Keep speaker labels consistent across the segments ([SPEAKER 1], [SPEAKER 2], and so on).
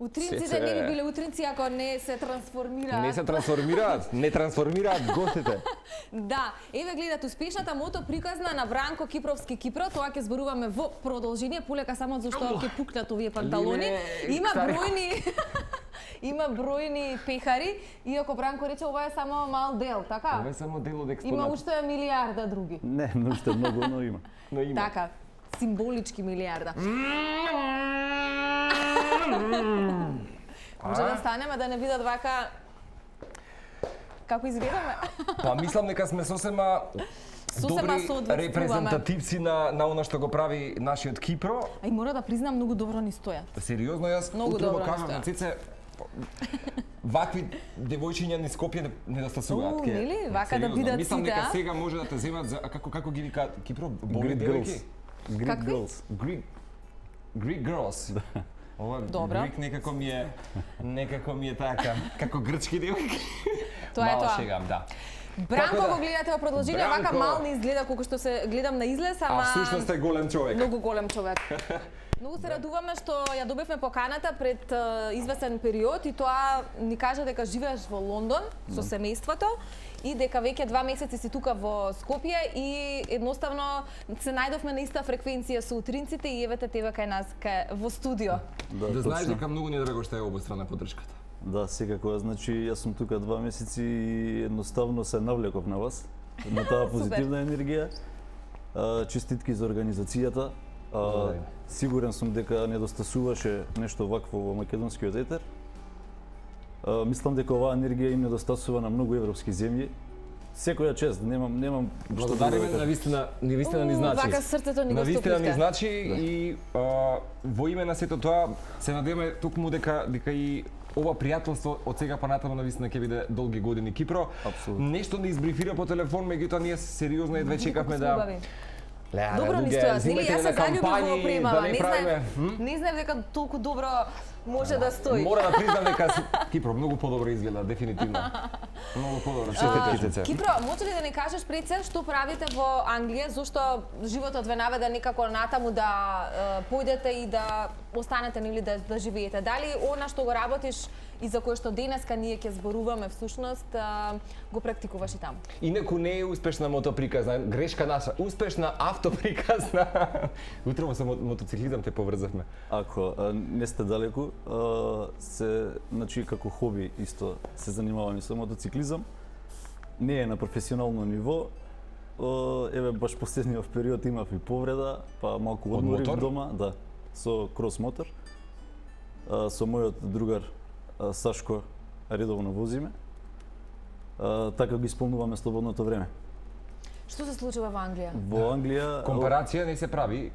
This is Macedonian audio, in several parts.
[SPEAKER 1] Утринците не би биле утринци ако не се трансформираат.
[SPEAKER 2] Не се трансформираат, не трансформираат гостите.
[SPEAKER 1] Да, еве гледате успешната мото приказна на Бранко Кипровски Кипро, тоа ќе зборуваме во продолжение, полека само зашто ќе пукнат овие панталони. Има бројни пехари, иако Бранко рече ова е само мал дел, така?
[SPEAKER 2] Ова е само дел од експонат.
[SPEAKER 1] Има уште милиарда други.
[SPEAKER 3] Не уште многу, но има.
[SPEAKER 1] Така, символички милиарда. Може да станеме да не видат вака како изгледаме.
[SPEAKER 2] Па мислам дека сме сосема добри репрезентативци на она што го прави нашиот Кипро.
[SPEAKER 1] Ај мора да признам, многу добро ни стојат.
[SPEAKER 2] Сериозно, јас утрово кажам на Цице, вакви девојчиња ни Скопје недостасуваат.
[SPEAKER 1] Нели? Вака да видат сите,
[SPEAKER 2] мислам дека сега може да те земат за како ги вика Кипро, боли девојки.
[SPEAKER 3] Greek girls.
[SPEAKER 2] Greek girls. Ова Greek некако ми е така, како грчки девојки.
[SPEAKER 1] Тоа е тоа.
[SPEAKER 2] Шегам, да.
[SPEAKER 1] Бранко го гледате во продолжение, вака мал не изгледа колку што се гледам на излез, ама
[SPEAKER 2] всушност е голем човек.
[SPEAKER 1] Многу голем човек. Многу се радуваме што ја добивме поканата пред известен период и тоа ни кажа дека живееш во Лондон со семејството и дека веќе 2 месеци си тука во Скопје и едноставно се најдовме на иста фреквенција со утринците и евете тебе кај нас во студио.
[SPEAKER 2] Да знаеш дека многу ни е драго што е обострана поддршката.
[SPEAKER 3] Да, секако, значи јас сум тука 2 месеци и едноставно се навлеков на вас, на таа позитивна енергија. Честитки за организацијата. Сигурен сум дека недостасуваше нешто вакво во македонскиот етер. Мислам дека оваа енергија им недостасува на многу европски земји. Секоја чест, немам што да
[SPEAKER 2] кажам. Навистина ни значи.
[SPEAKER 1] Вака срцето ни го стопивте.
[SPEAKER 2] Навистина ни значи и во име на сето тоа се надеваме токму дека и ова пријателство од сега па натаму навистина ќе биде долги години Кипро.
[SPEAKER 3] Апсолутно.
[SPEAKER 2] Нешто не избрифира по телефон, меѓутоа ние сериозно едве чекавме да
[SPEAKER 1] добро ни стојат, нели јас се заљубив во премава, не знаев дека толку добро може да стои.
[SPEAKER 2] Мора да признам дека Кипро многу подобро изгледа, дефинитивно. Многу подобро.
[SPEAKER 1] Кипро, може ли да ни кажеш пред се што правите во Англија, зошто животот ве наведе некако натаму да појдете и да останете нели да живеете? Дали она што го работиш и за кое што денеска ние ќе зборуваме всушност го практикуваш и таму?
[SPEAKER 2] Инаку не е успешна мотоприказна, грешка наша, успешна автоприказна. Утрово со мотоциклизам те поврзавме.
[SPEAKER 3] Ако не сте далеку, значи како хоби исто се занимавам и со мотоциклизам. Не е на професионално ниво. Еве баш последниот период имав и повреда, па малку одморив дома, да, со крос мотор. Со мојот другар Сашко редовно возиме. Така го исполнуваме слободното време.
[SPEAKER 1] Што се случува во Англија?
[SPEAKER 3] Во Англија
[SPEAKER 2] компарација не се прави.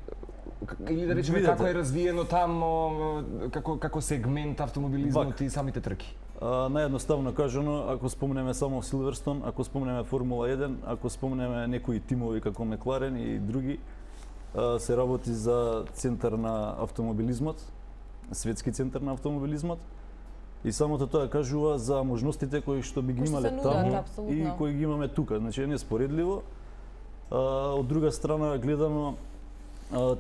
[SPEAKER 2] Или да речеме како е развиено тамо како сегмент автомобилизмот и самите трки.
[SPEAKER 3] Наједноставно кажано, ако спомнеме само Силверстон, ако спомнеме Формула 1, ако спомнеме некои тимови како Макларен и други, се работи за центар на автомобилизмот, светски центар на автомобилизмот. И самото тоа кажува за можностите кои што би ги имале таму и кои ги имаме тука. Значи е неспоредливо. Од друга страна гледано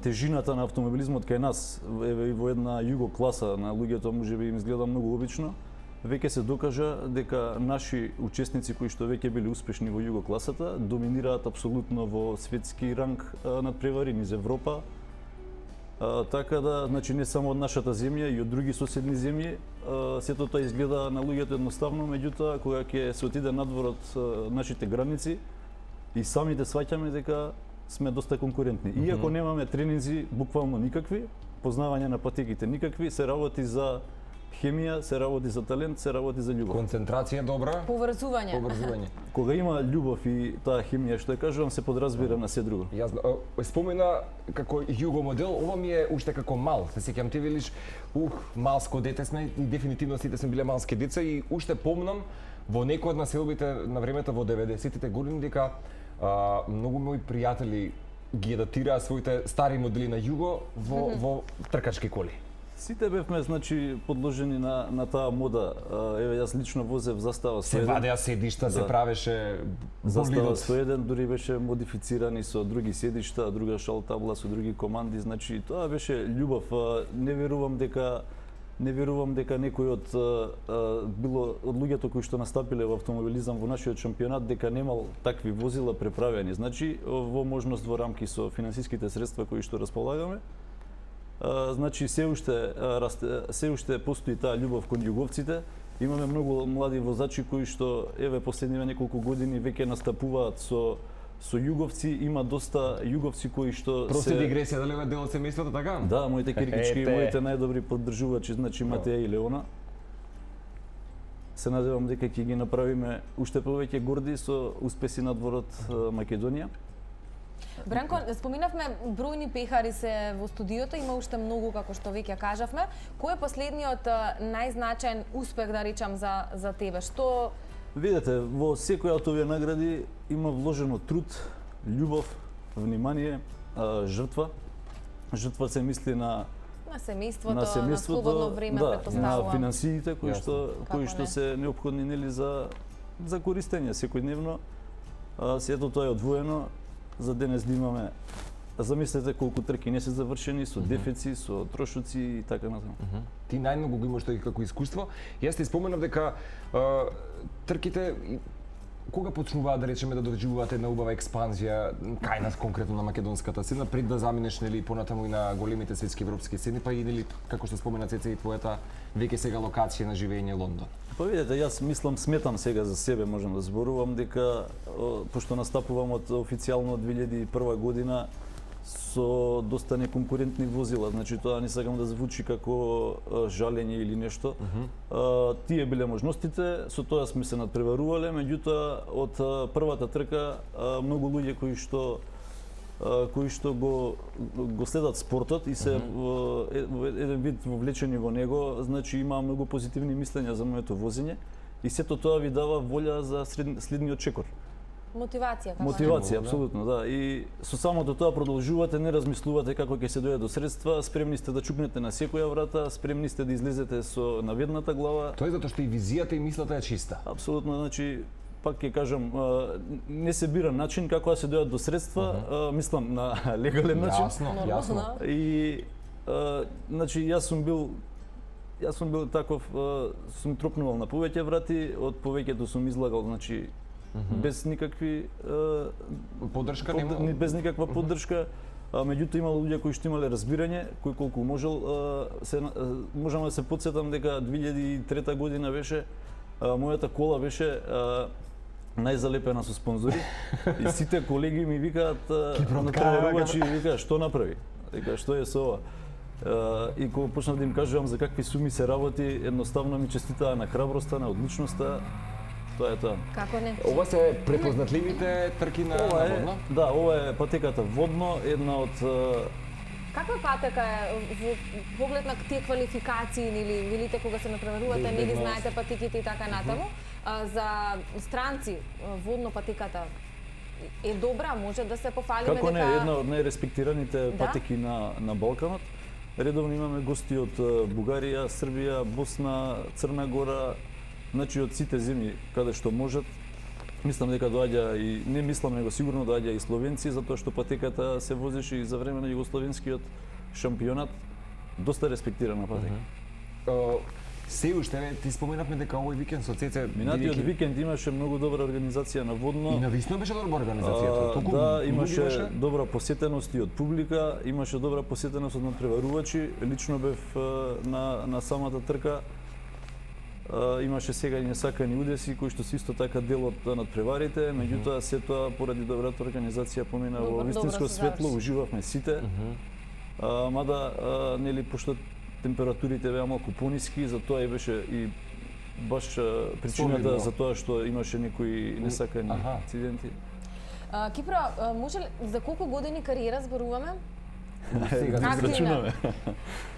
[SPEAKER 3] тежината на автомобилизмот кај нас, еве и во една југо класа на луѓето можеби им изгледа многу обично. Веќе се докажа дека наши учесници кои што веќе били успешни во југо класата доминираат апсолутно во светски ранг надпревари низ Европа. Така да, значи не само од нашата земја и од други соседни земји, сето тоа изгледа на луѓето едноставно, меѓутоа кога ќе се отиде надвор од нашите граници и самите сваќаме дека сме доста конкурентни. Иако немаме тренинзи буквално никакви, познавање на патеките никакви, се работи за хемија, се работи за талент, се работи за љубов.
[SPEAKER 2] Концентрација добра.
[SPEAKER 1] Поврзување.
[SPEAKER 3] Кога има љубов и таа хемија што ја кажувам, се подразбира на се друго.
[SPEAKER 2] Јасно. Спомена како југо модел, ова ми е уште како мал. Се сеќам ти велиш, малско дете сме и дефинитивно сите сме биле малски деца и уште помнам во некои од населбите на времето во 90-тите години дека многу мои пријатели ги датираа своите стари модели на југо во тркачки коли.
[SPEAKER 3] Сите бевме, значи, подложени на таа мода. Еве, јас лично возев Застава 101.
[SPEAKER 2] Се вадеа седишта, се правеше
[SPEAKER 3] Застава 101, дури беше модифицирани со други седишта, друга шал табла со други команди. Значи, тоа беше љубов. Не верувам дека Не верувам дека некој од луѓето кои што настапиле во автомобилизам во нашиот шампионат дека немал такви возила преправени. Значи, во можност во рамки со финансиските средства кои што располагаме, значи се уште постои таа љубов кон југовците. Имаме многу млади возачи кои што еве последниве неколку години веќе настапуваат со југовци, има доста југовци кои што
[SPEAKER 2] Прости дигресија, дали е дел од семејството така?
[SPEAKER 3] Да, моите киркички и моите најдобри поддржувачи, значи Матеја и Леона. Се надевам дека ќе ги направиме уште повеќе горди со успеси надвор од Македонија.
[SPEAKER 1] Бранко, споминавме бројни пехари се во студиото, има уште многу како што веќе кажавме. Кој е последниот најзначаен успех, да речам, за тебе? Што
[SPEAKER 3] Видете, во секоја од овие награди има вложено труд, љубов, внимание, жртва. Жртва се мисли на
[SPEAKER 1] семејството, на слободно време,
[SPEAKER 3] да,
[SPEAKER 1] претпоставувам.
[SPEAKER 3] на финансиите кои што се неопходни нели за користење секојдневно. Сето тоа е одвоено за денес да имаме. Замислете колку трки не се завршени со дефици, со трошоци и така натаму.
[SPEAKER 2] Ти најмногу го имаш тој како искуство. Јас ти споменав дека трките кога почнуваат да речеме да доживуваат една убава експанзија кај нас конкретно на македонската сцена пред да заминеш нели понатаму и на големите светски европски сцени, па и нели како што спомена Цеце и твојата веќе сега локација на живење Лондон.
[SPEAKER 3] Па видете, јас сметам сега за себе, можам да зборувам дека пошто настапувам од официјално 2001 година со доста неконкурентни возила, значи тоа не сакам да звучи како жалење или нешто. Тие биле можностите, со тоа сме се надпреварувале, меѓутоа од првата трка многу луѓе кои што го следат спортот и се еден вид вовлечени во него, значи има многу позитивни мислења за моето возење и сето тоа ви дава волја за следниот чекор.
[SPEAKER 1] Мотивација,
[SPEAKER 3] Мотивација, апсолутно, да. И со самото тоа продолжувате, не размислувате како ќе се дојде до средства, спремни сте да чукнете на секоја врата, спремни сте да излезете со наведната глава.
[SPEAKER 2] Тоа е затоа што и визијата и мислата е чиста.
[SPEAKER 3] Апсолутно, значи пак ќе кажам, не се бира начин како да се дојдат до средства, мислам на легален начин.
[SPEAKER 2] Јасно.
[SPEAKER 3] И значи јас сум бил таков, сум тропнувал на повеќе врати, од повеќето сум излагал, значи без никакви
[SPEAKER 2] поддршка
[SPEAKER 3] без никаква поддршка. Меѓутоа имало луѓе кои што имале разбирање, кои колку можел можам да се потсетам дека 2003 година беше мојата кола беше најзалепена со спонзори и сите колеги ми викаат натпреварувачи викаат што направи? Дека што е со ова? И кога почнав да им кажувам за какви суми се работи, едноставно ми честитаа на храброста, на одличноста. Тоа е тоа.
[SPEAKER 1] Како не?
[SPEAKER 2] Ова се препознатливите трки на Водно?
[SPEAKER 3] Да, ова е патеката Водно, една од
[SPEAKER 1] Каква патека е во поглед на тие квалификации или велите кога се натпреварувате, не ги знаете патеките и така натаму? За странци Водно патеката е добра, може да се пофалиме дека...
[SPEAKER 3] Како не, една од најреспектираните патеки на Балканот. Редовно имаме гости од Бугарија, Србија, Босна, Црна Гора, значи од сите земји каде што можат. Мислам дека доаѓа и не мислам него сигурно доаѓа и словенци затоа што патеката се возеше и за време на југословенскиот шампионат, доста респектирана патека.
[SPEAKER 2] Се уште ти споменавме дека овој викенд со Цеце
[SPEAKER 3] минатиот викенд имаше многу добра организација на Водно.
[SPEAKER 2] И навистина беше добра организацијата.
[SPEAKER 3] Да, имаше добра посетеност и од публика, имаше добра посетеност од натпреварувачи. Лично бев на самата трка. Имаше сега и несакани удеси кои што се исто така дел од надпреварите, меѓутоа се тоа поради добрата организација помина во вистинско светло, уживавме сите. Мада нели пошто температурите беа малку пониски, затоа и беше и баш причината за тоа што имаше некои несакани инциденти.
[SPEAKER 1] Кипро, може ли за колку години кариера зборуваме?
[SPEAKER 3] Сега да израчунаме.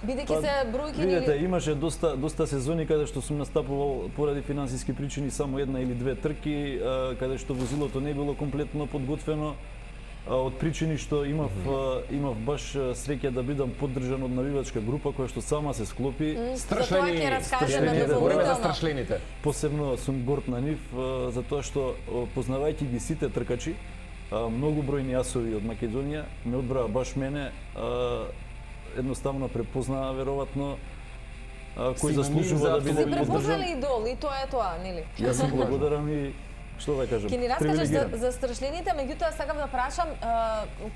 [SPEAKER 1] Бидејќи се бројки
[SPEAKER 3] видете, имаше доста сезони каде што сум настапувал поради финансиски причини само една или две трки, каде што возилото не било комплетно подготвено. Од причини што имав баш среќа да бидам поддржан од навивачка група која што сама се склопи.
[SPEAKER 2] Страшлените.
[SPEAKER 3] Посебно сум горд на нив затоа што познавајќи ги сите тркачи, многу бројни јасови од Македонија ме одбраа баш мене, едноставно препознаа веројатно кој заслужува да биде
[SPEAKER 1] Си
[SPEAKER 3] поддржан.
[SPEAKER 1] препознали идол и тоа е тоа, нели?
[SPEAKER 3] Јас сум благодарен и што да кажам.
[SPEAKER 1] Ќе ни раскажеш за страшлените, меѓутоа сакам да прашам,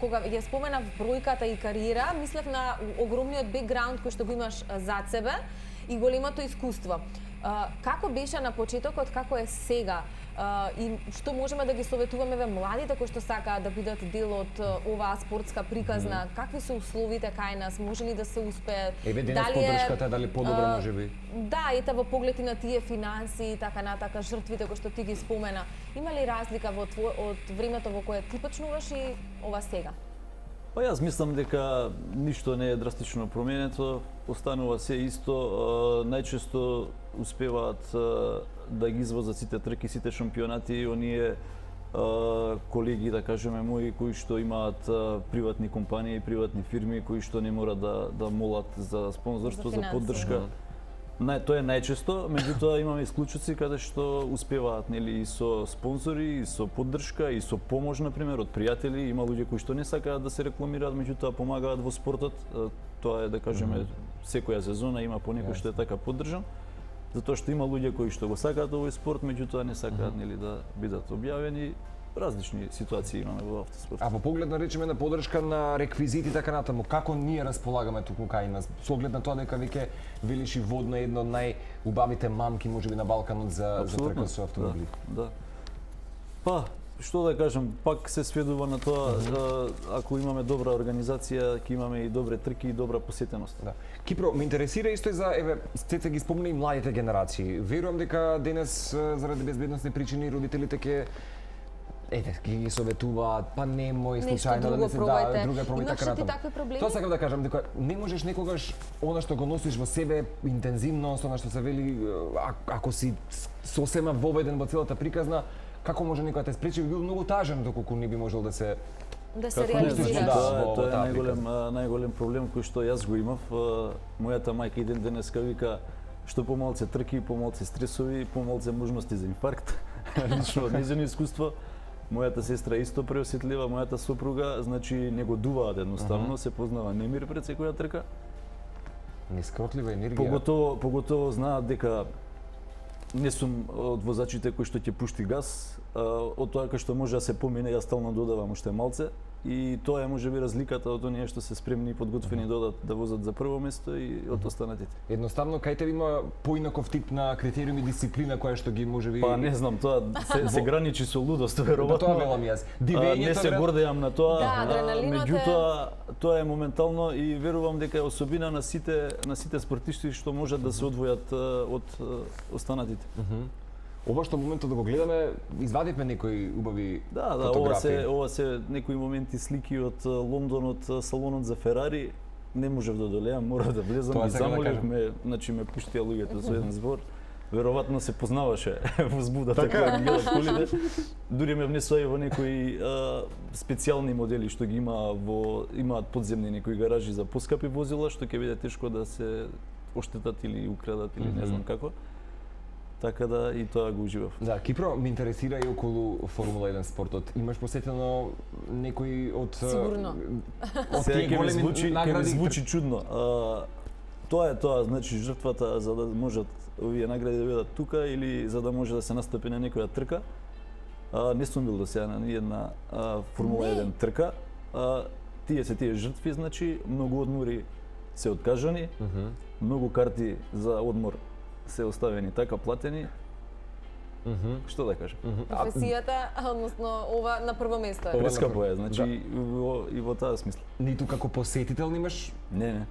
[SPEAKER 1] кога ја споменав бројката и кариера, мислев на огромниот бекграунд кој што го имаш зад себе и големото искуство. Како беше на почетокот, како е сега? И што можеме да ги советуваме ве младите кои што сакаат да бидат дел од оваа спортска приказна? Какви се условите кај нас? Може ли да се успее?
[SPEAKER 2] Еве денес поддршката дали подобра можеби?
[SPEAKER 1] Да, ете во поглед и на тие финанси и така натака, жртвите кои што ти ги спомена. Има ли разлика од времето во кое ти почнуваш и ова сега?
[SPEAKER 3] Па јас мислам дека ништо не е драстично променето, останува се исто, најчесто успеваат да ги извозат сите трки, сите шампионати, оние колеги, да кажеме, мои кои што имаат приватни компании, приватни фирми, кои што не мора да молат за спонзорство, за поддршка. Тоа е најчесто, меѓутоа имаме исклучоци каде што успеваат, нели, и со спонзори, и со поддршка, и со помош, например, од пријатели. Има луѓе кои што не сакаат да се рекламираат, меѓутоа помагаат во спортот. Тоа е, да кажеме, секоја сезона има по некој што е така поддржан. Затоа што има луѓе кои што го сакаат овој спорт, меѓутоа не сакаат, нели, да бидат објавени. Различни ситуации имаме во автоспорт.
[SPEAKER 2] А во поглед на речеме на поддршка на реквизити и така натаму, како ние располагаме туку кај нас? Со оглед на тоа дека веќе велиш и водно едно од најубавите мамки можеби на Балканот за трка со автомобили.
[SPEAKER 3] Да. Па, што да кажам, пак се сведува на тоа, ако имаме добра организација, ќе имаме и добре трки и добра посетеност.
[SPEAKER 2] Да. Кипро, ме интересира исто и за, еве, Цеца ги спомна и младите генерации. Верувам дека денес заради безбедносни причини родителите ќе ги советуваат, па немој случајно да не се друга пробај така натаму.
[SPEAKER 1] Такви проблеми?
[SPEAKER 2] Тоа сакам да кажам, дека не можеш некогаш она што го носиш во себе интензивност, она што се вели, ако си сосема воведен во целата приказна, како може некој да те спречи, би бил многу тажен доколку не би можел да се
[SPEAKER 1] реализира.
[SPEAKER 3] Тоа е најголем проблем кој што јас го имав. Мојата мајка еден денеска вика што помалце трки, помалце стресови, помалце можности за инфаркт. Лично од нејзино искуство. Мојата сестра исто преосетлива, мојата сопруга, значи не го дуваат едноставно, се познава немир пред секоја трка.
[SPEAKER 2] Нескротлива енергија.
[SPEAKER 3] Поготово знаат дека не сум од возачите кои што ќе пушти газ, од тоа кај што може да се помине, јас стално додавам уште малце. И тоа е можеби разликата од оние што се спремни и подготвени да возат за прво место и од останатите.
[SPEAKER 2] Едноставно кај тебе има поинаков тип на критериуми дисциплина која што ги можеби.
[SPEAKER 3] Па не знам, тоа се граничи со лудост, веројатно.
[SPEAKER 2] Тоа велам јас.
[SPEAKER 3] Не се гордеам на тоа.
[SPEAKER 1] Да, адреналинот
[SPEAKER 3] меѓутоа тоа е моментално и верувам дека е особина на сите спортисти што можат да се одвојат од останатите.
[SPEAKER 2] Ова што моментот да го гледаме, извадивме некои убави фотографии.
[SPEAKER 3] Ова се некои моменти слики од Лондон, од салонот за Ферари. Не можев да долеам, мора да влезам, ги замолив, значи ме пуштија луѓето со еден збор. Веројатно се познаваше возбудата која ги гледат колите. Дури ме внесоа и во некои специјални модели што ги имаат подземни некои гаражи за поскапи возила, што ќе биде тешко да се оштетат или украдат или не знам како. Така да и тоа го уживав.
[SPEAKER 2] Да, Кипро, ме интересира и околу Формула 1 спортот. Имаш посетено некои од
[SPEAKER 1] Сигурно.
[SPEAKER 2] Од тие големи награди?
[SPEAKER 3] Звучи чудно. Тоа е тоа, значи жртвата за да можат овие награди да бидат тука или за да може да се настапи на некоја трка. Не сум бил до сега на ниедна Формула 1 трка. Тие жртви, значи многу одмори се откажани, многу карти за одмор се оставени така платени. Што да кажам?
[SPEAKER 1] Професијата, односно ова на прво место е.
[SPEAKER 3] Прескапо е, значи и во таа смисла.
[SPEAKER 2] Ниту како посетител немаш?
[SPEAKER 3] Не.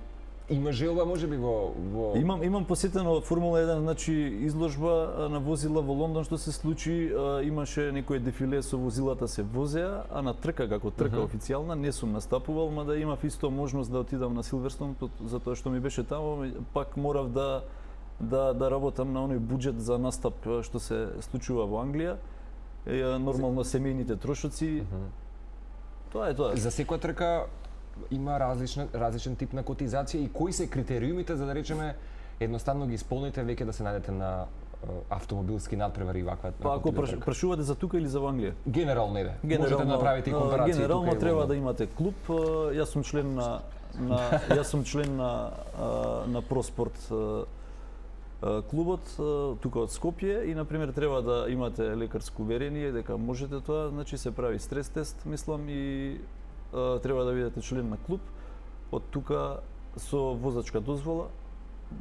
[SPEAKER 2] Има желба можеби во
[SPEAKER 3] Имам посетено Формула 1, значи изложба на возила во Лондон што се случи, имаше некој дефиле со возилата се возеа, а на трка како трка официјална не сум настапувал, мада имав исто можност да отидам на Силверстон затоа што ми беше таму, пак морав да работам на оној буџет за настап што се случува во Англија. Нормално семејните трошоци. Тоа е тоа.
[SPEAKER 2] За секоја трка има различен тип на котизација и кои се критериумите за да речеме едноставно ги исполните веќе да се најдете на автомобилски надпревари и ваква.
[SPEAKER 3] Па ако прашувате за тука или за Англија?
[SPEAKER 2] Генерално иде. Можете да направите и компарации.
[SPEAKER 3] Генерално треба да имате клуб. Јас сум член на ProSport клубот тука од Скопје и на пример треба да имате лекарско уверение дека можете тоа, значи се прави стрес тест, мислам, и треба да бидете член на клуб. Од тука со возачка дозвола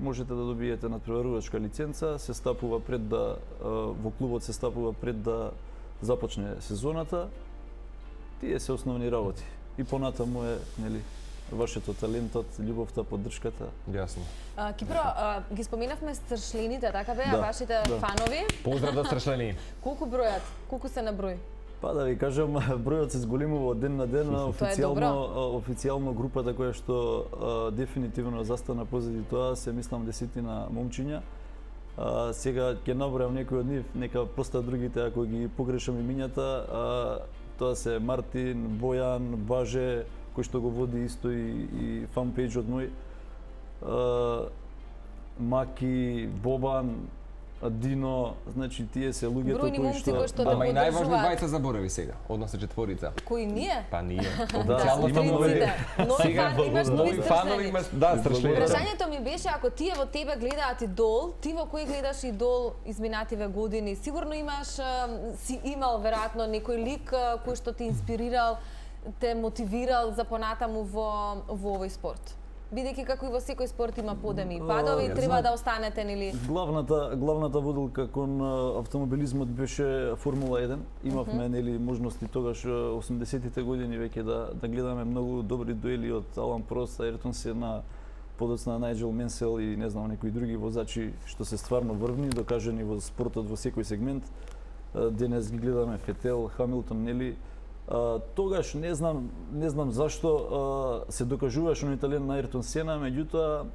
[SPEAKER 3] можете да добиете надпреварувачка лиценца, се стапува пред да во клубот се стапува пред да започне сезоната. Тие се основни работи. И понатаму е, нели, вашето талентот, љубовта, поддршката.
[SPEAKER 2] Јасно.
[SPEAKER 1] Кипро, ги споменавме стршлените, така беа вашите фанови.
[SPEAKER 2] Поздрав до стршлени.
[SPEAKER 1] Колку бројат? Колку се на број?
[SPEAKER 3] Па да ви кажам, бројот се зголемува од ден на ден, официјално групата која што дефинитивно застана позади тоа се мислам десетина момчиња. Сега ќе набројам некои од нив, нека просто другите ако ги погрешам имињата, тоа се Мартин, Бојан, Баже, кој што го води исто и фанпејџот мој, Маки, Бобан, Дино, значи тие се луѓето кои што
[SPEAKER 2] Ама и најважни двајца заборави сега, односно четворица.
[SPEAKER 1] Кои ние?
[SPEAKER 2] Па ние.
[SPEAKER 1] Нови
[SPEAKER 2] фанови имаш, да, стршлени.
[SPEAKER 1] Прашањето ми беше ако тие во тебе гледаат идол, ти во кој гледаш идол изминативе години, сигурно имаш си имал веројатно некој лик кој што те инспирирал, те мотивирал за понатаму во овој спорт? Бидејќи како и во секој спорт има подеми и падови, треба да останете, нели?
[SPEAKER 3] Главната водилка кон автомобилизмот беше Формула 1. Имавме нели можности тогаш 80-тите години веќе да гледаме многу добри дуели од Алан Прост, Ајртон Сена, подоцна Најджел Менсел и не знам некои други возачи што се стварно врвни, докажани во спортот во секој сегмент. Денес ги гледаме Фетел, Хамилтон, нели? Тогаш не знам зашто се докажуваше на италијан на Ајртон Сена, меѓутоа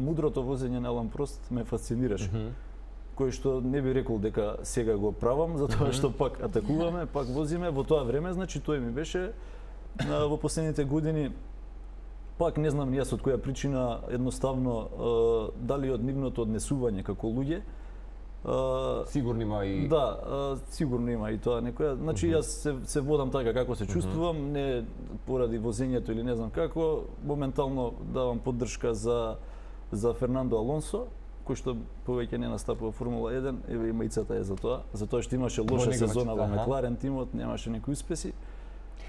[SPEAKER 3] мудрото возење на Алан Прост ме фасцинираше. Кој што не би рекол дека сега го правам, затоа што пак атакуваме, пак возиме. Во тоа време, значи, тој ми беше во последните години, пак не знам јас од која причина, едноставно, дали од нивното однесување како луѓе,
[SPEAKER 2] сигурно има и
[SPEAKER 3] сигурно има и тоа некоја. Значи јас се водам така како се чувствувам, не поради возењето или не знам како, моментално давам поддршка за Фернандо Алонсо, кој што повеќе не настапува Формула 1, еве имајцата е за тоа што имаше лоша сезона во Макларен тимот, немаше некои успеси.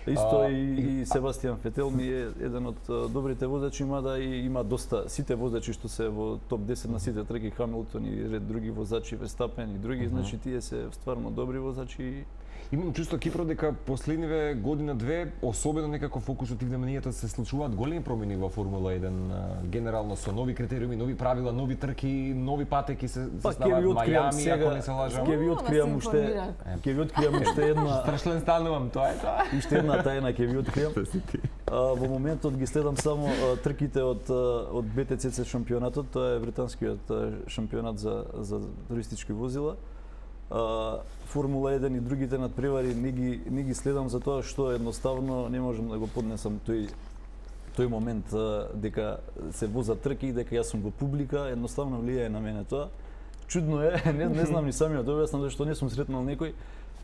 [SPEAKER 3] Исто и Себастијан Фетел ми е еден од добрите возачи, мада и има доста сите возачи што се во топ 10 на сите треки, Хамилтон и ред други возачи, Верстапен и други, значи тие се стварно добри возачи.
[SPEAKER 2] Имам чувство, Кипро, дека последниве година-две, особено некако фокусот и вниманието се случуваат големи промени во Формула 1, генерално со нови критериуми, нови правила, нови трки, нови патеки се ставаат Мајами, ако не се лажам.
[SPEAKER 3] Ќе ви откријам уште една
[SPEAKER 2] страшлен станувам, тоа е тоа.
[SPEAKER 3] Уште една тајна ќе ви откријам. Во моментот ги следам само трките од БТЦЦ шампионатот, тоа е британскиот шампионат за туристички возила. Формула 1 и другите надпревари не ги следам за тоа што едноставно не можам да го поднесам тој момент дека се возат трки и дека јас сум во публика, едноставно влијае на мене тоа. Чудно е, не знам ни самиот објаснам зашто не сум сретнал некој.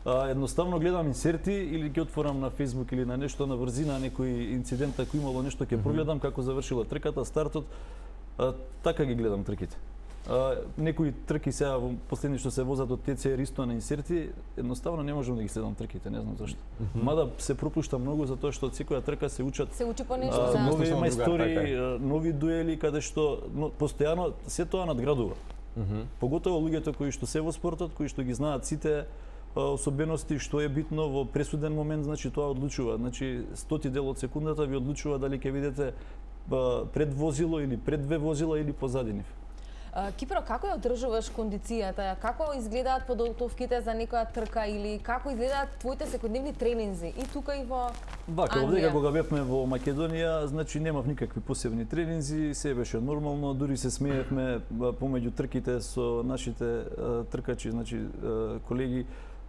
[SPEAKER 3] Едноставно гледам инсерти или ќе отворам на Facebook или на нешто на врзина некој инцидент ако имало нешто ќе прогледам како завршила трката, стартот. Така ги гледам трките. Некои трки сега последни што се возат од ТЦР исто на инсерти, едноставно не можам да ги следам трките, не знам зашто. Мада се пропушта многу затоа што од секоја трка се учат
[SPEAKER 1] по нешто,
[SPEAKER 3] нови мајстори, нови дуели каде што постојано се тоа надградува. Поготово луѓето кои што се во спортот, кои што ги знаат сите особености што е битно во пресуден момент, значи тоа одлучува. Значи 100 дел од секундата ви одлучува дали ќе видите пред возило или пред две возила или позади нив.
[SPEAKER 1] Кипро, како ја одржуваш кондицијата? Како изгледаат подготовките за некоја трка или како изгледаат твоите секојдневни тренинзи и тука и во
[SPEAKER 3] Вака, овдека кога бевме во Македонија, значи немав никакви посебни тренинзи, се беше нормално, дури се смеевме помеѓу трките со нашите тркачи, значи колеги,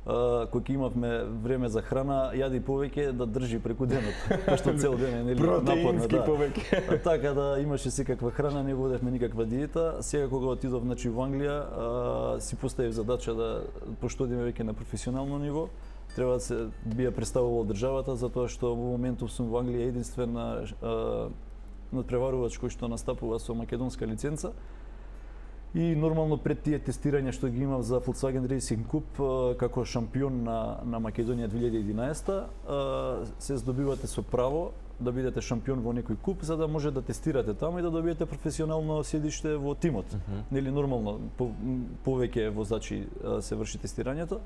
[SPEAKER 3] кој ќе имавме време за храна, јади повеќе да држи преку денот. Пошто цел ден е нели напорно,
[SPEAKER 2] повеќе.
[SPEAKER 3] Така да имаше секаква храна, не водевме никаква диета. Сега кога отидов значи во Англија, си поставив задача да пошто одиме веќе на професионално ниво, треба да се би ја представувал државата затоа што во моментов сум во Англија единствен надпреварувач кој што настапува со македонска лиценца. И нормално пред тие тестирања што ги имав за Volkswagen Racing Cup како шампион на Македонија 2011, се здобивате со право да бидете шампион во некој куп за да може да тестирате таму и да добиете професионално седиште во тимот. Нели нормално повеќе возачи се врши тестирањето.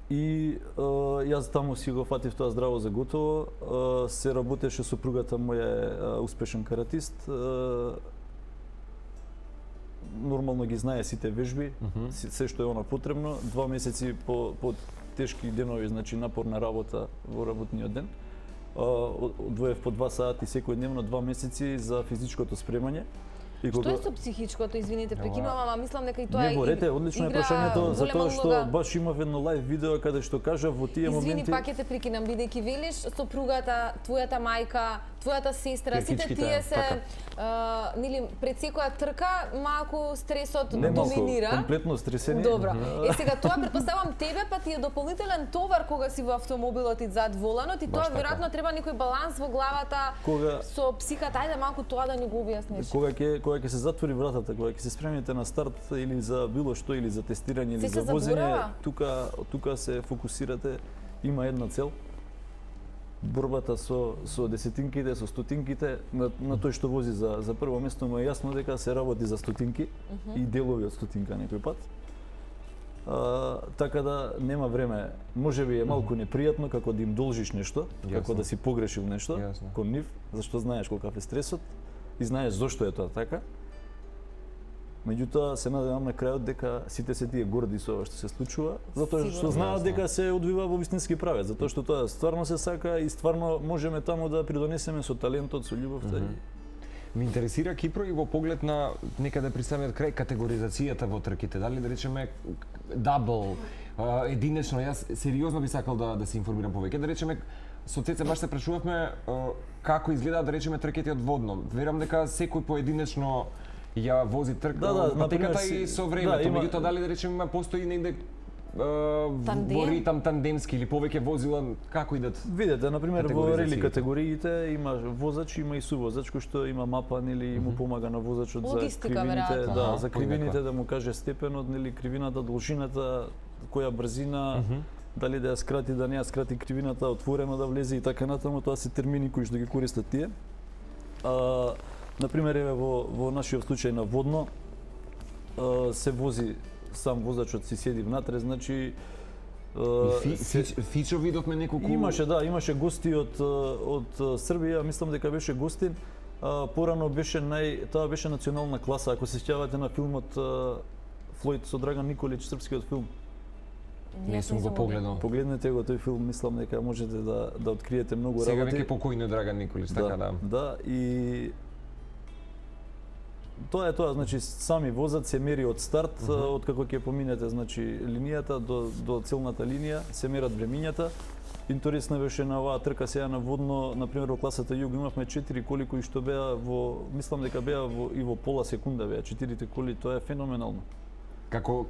[SPEAKER 3] И јас таму си го фатив тоа здраво за готово. Се работеше сопругата моја успешен каратист. Нормално ги знае сите вежби, се што е она потребно. 2 месеци по тешки денови, значи напорна работа во работниот ден. Одвоев по 2 сати секојдневно 2 месеци за физичкото спремање.
[SPEAKER 1] Што е со психичкото, извините, прекинувам, ама мислам дека и тоа
[SPEAKER 3] Не борете, одлично е прашањето, затоа што баш имав едно лайв видео каде што кажа во тие моменти.
[SPEAKER 1] Извини, пак ќе те прекинам, бидејќи велиш сопругата, твојата мајка, твојата сестра, сите тие се нели пред секоја трка малку стресот доминира.
[SPEAKER 3] Комплетно стресени.
[SPEAKER 1] Добро. Сега тоа претпоставам тебе па ти е дополнителен товар кога си во автомобилот и зад воланот и тоа веројатно треба некој баланс во главата со психата. Ајде малку тоа да ни го објасниш.
[SPEAKER 3] Кога ќе се затвори вратата, кога ќе се спремите на старт или за било што или за тестирање или за возење, тука се фокусирате, има една цел. Борбата со десетинките, со стотинките, на тој што вози за прво место му е јасно дека се работи за стотинки и делови од стотинка некој пат. Така да нема време. Можеби е малку непријатно како да им должиш нешто, како да си погрешил нешто кон нив, зашто знаеш колкав е стресот и знаеш зошто е тоа така. Меѓутоа се надевам на крајот дека сите се тие горди со ова што се случува, затоа што знаат дека се одвива во вистински правец, затоа што тоа стварно се сака и стварно можеме таму да придонесеме со талентот, со љубовта.
[SPEAKER 2] Ме интересира Кипро и во поглед на некаде при самиот крај категоризацијата во трките, дали да речеме дабл, единечно, јас сериозно би сакал да се информирам повеќе, да речеме со Цеце баш се прашувавме како изгледаат да речеме трките од водно. Верам дека секој поединечно ја вози патеката и со времето, меѓутоа дали да речеме постои негде во ритам тандемски или повеќе возила, како идат?
[SPEAKER 3] Видете, например, во рели категориите има возач, има и сувозач кој што има мапа, нели му помага на возачот за кривините, за кривините да му каже степенот, нели кривината, должината, која брзина, дали да ја скрати, да не ја скрати кривината, отворено да влезе и така натаму, тоа се термини кои што ги користат тие. Например, еве во нашиот случај на водно се вози сам возачот си седи внатре, значи
[SPEAKER 2] Фичо видовме неколку.
[SPEAKER 3] Имаше гости од Србија, мислам дека беше гостин. Порано беше тоа беше национална класа, ако се сеќавате на филмот Флојд со Драган Николич, српскиот филм.
[SPEAKER 2] Не сум го погледнал.
[SPEAKER 3] Погледнете го тој филм, мислам дека можете да откриете многу работи.
[SPEAKER 2] Сега веќе покојно Драган Николич, така да.
[SPEAKER 3] Да, и тоа е тоа, значи сами возат се мери од старт, од како ќе поминете, значи линијата до целната линија, се мерат времињата. Интересно беше на оваа трка сега на водно, например во класата Југ имавме 4 коли кои што беа мислам дека беа и во пола секунда беа 4 коли, тоа е феноменално.
[SPEAKER 2] Како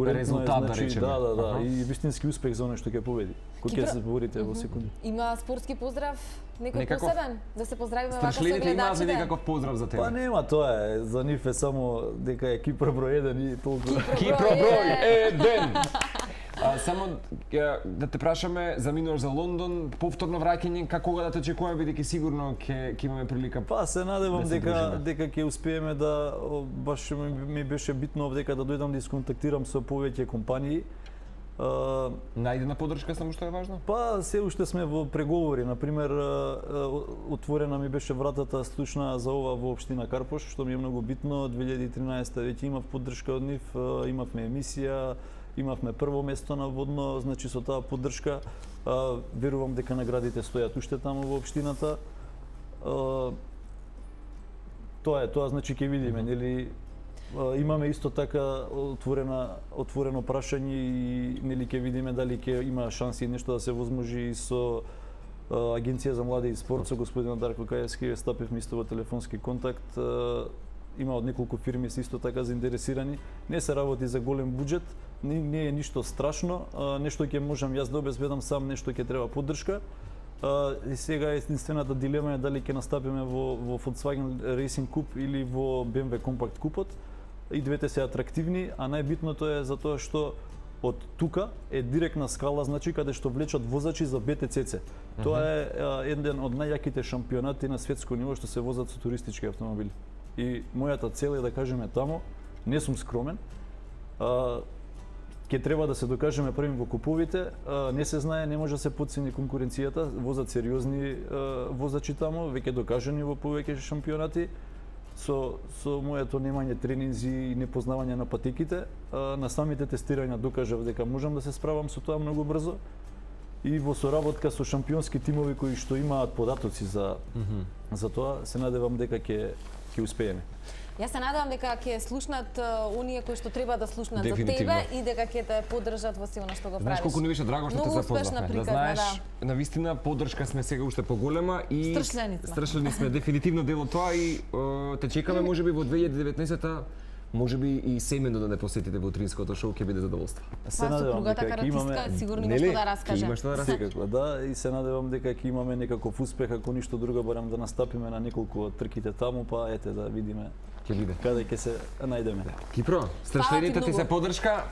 [SPEAKER 3] резултат,
[SPEAKER 2] да речеме.
[SPEAKER 3] Да, и вистински успех за оној што ќе победи. Кој ќе се борите во секунди.
[SPEAKER 1] Има спортски поздрав некој посебен да се поздравиме вака со
[SPEAKER 2] гледачите? Има некаков поздрав за тебе?
[SPEAKER 3] Па нема, тоа е за нив е само дека е Кипро број 1 и толку.
[SPEAKER 2] Кипро број 1. Само да те прашаме, заминуваш за Лондон, повторно враќање, кога да те очекуваме, бидејќи сигурно ќе имаме прилика.
[SPEAKER 3] Па се надевам дека ќе успееме да, баш ми беше битно дека да дојдам да исконтактирам со повеќе компании.
[SPEAKER 2] Најдена поддршка само што е важно?
[SPEAKER 3] Па се уште сме во преговори, например отворена ми беше вратата слушна за ова во општина Карпош, што ми е многу битно. 2013 веќе имав поддршка од нив, имавме емисија, имавме прво место на водно, значи со таа поддршка верувам дека наградите стојат уште таму во општината. Тоа значи ќе видиме, нели имаме исто така отворено прашање и нели ќе видиме дали ќе има шанси нешто да се возможи и со Агенција за млади и спорт со господин Дарко Каевски, стапивме исто во телефонски контакт. Има од неколку фирми се исто така заинтересирани. Не се работи за голем буџет, не е ништо страшно, нешто ќе можам јас да обезбедам сам, нешто ќе треба поддршка. И сега единствената дилема е дали ќе настапиме во Volkswagen Racing Cup или во BMW Compact Купот. И двете се атрактивни, а најбитното е затоа што од тука е директна скала, значи каде што влечат возачи за BTCC. Тоа е еден од најјаките шампионати на светско ниво што се возат со туристички автомобили. И мојата цел е да кажеме таму, не сум скромен, ќе треба да се докажеме први во куповите, не се знае, не може да се потцени конкуренцијата, возат сериозни возачи таму, веќе докажани во повеќе шампионати. Со моето немање тренинзи и непознавање на патеките, на самите тестирања докажав дека можам да се справам со тоа многу брзо и во соработка со шампионски тимови кои што имаат податоци за тоа, се надевам дека ќе успееме.
[SPEAKER 1] Јас се надевам дека ќе слушнат оние кои што треба да слушнат за тебе и дека ќе те поддржат во силно што го правиш.
[SPEAKER 2] Знаеш колку ни беше драго што те запознавме. Да знаеш, навистина поддршка сме сега уште поголема и страшлени сме дефинитивно дел од тоа и те чекаме можеби во 2019-та. Можеби и семено да не посетите во утринското шоу, ќе биде задоволство.
[SPEAKER 3] Се надевам дека ќе имаме
[SPEAKER 1] сигурно има што да раскаже.
[SPEAKER 2] Има што да раскаже.
[SPEAKER 3] Секако, да, и се надевам дека ќе имаме некаков успех, ако ништо друго, барем да настапиме на неколку од трките таму, па ете да видиме
[SPEAKER 2] ќе биде.
[SPEAKER 3] Каде ќе се најдеме.
[SPEAKER 2] Кипро, страшлените ти се поддршка.